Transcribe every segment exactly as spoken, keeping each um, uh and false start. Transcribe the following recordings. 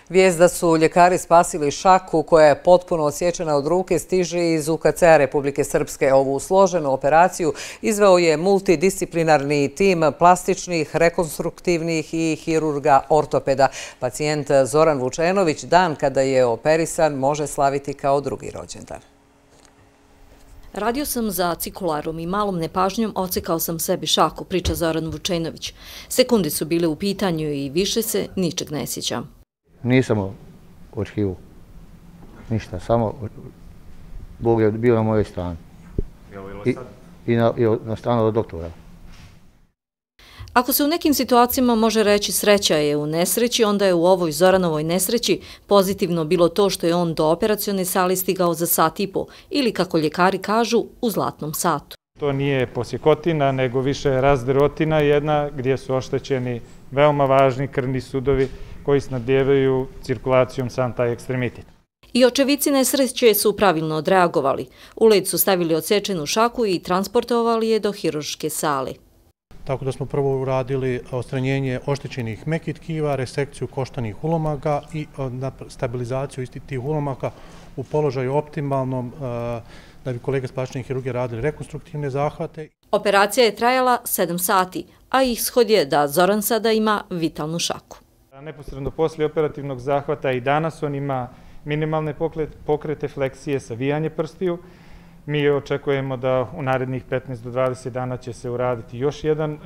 Vijest da su ljekari spasili Šaku, koja je potpuno odsječena od ruke, stiže iz U K C-a Republike Srpske. Ovu složenu operaciju izveo je multidisciplinarni tim plastičnih, rekonstruktivnih i hirurga ortopeda. Pacijent Zoran Vučenović dan kada je operisan može slaviti kao drugi rođendan. Radio sam za cikularom i malom nepažnjom ocekao sam sebi šaku, priča Zoran Vučenović. Sekundi su bile u pitanju i više se ničeg ne sjećam. Nisam očekivao ništa, samo Bog je bio na mojoj strani. I, i, na, i na stranu od doktora. Ako se u nekim situacijama može reći sreća je u nesreći, onda je u ovoj Zoranovoj nesreći pozitivno bilo to što je on do operacione sale stigao za sat i po, ili kako ljekari kažu, u zlatnom satu. To nije posjekotina, nego više razderotina jedna gdje su oštećeni veoma važni krvni sudovi koji snabdijevaju cirkulacijom sam taj ekstremitet. I očevici nesreće su pravilno odreagovali. U led su stavili odsečenu šaku i transportovali je do hirurške sale. Tako da smo prvo uradili odstranjenje oštećenih mekih tkiva, resekciju koštanih ulomaka i stabilizaciju istih tih ulomaka u položaju optimalnom da bi kolege s plastične hirurgije radili rekonstruktivne zahvate. Operacija je trajala sedam sati, a ishod je da Zoran sada ima vitalnu šaku. Neposredno poslije operativnog zahvata i danas on ima minimalne pokrete, fleksije, savijanje prstiju. Mi očekujemo da u narednih petnaest do dvadeset dana će se uraditi još jedan e,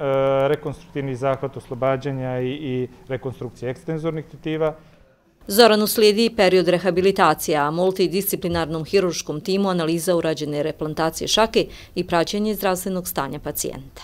rekonstruktivni zahvat oslobađanja i, i rekonstrukcije ekstenzornih tetiva. Zoranu slijedi period rehabilitacije, a multidisciplinarnom hirurškom timu analiza urađene replantacije šake i praćenje zdravstvenog stanja pacijenta.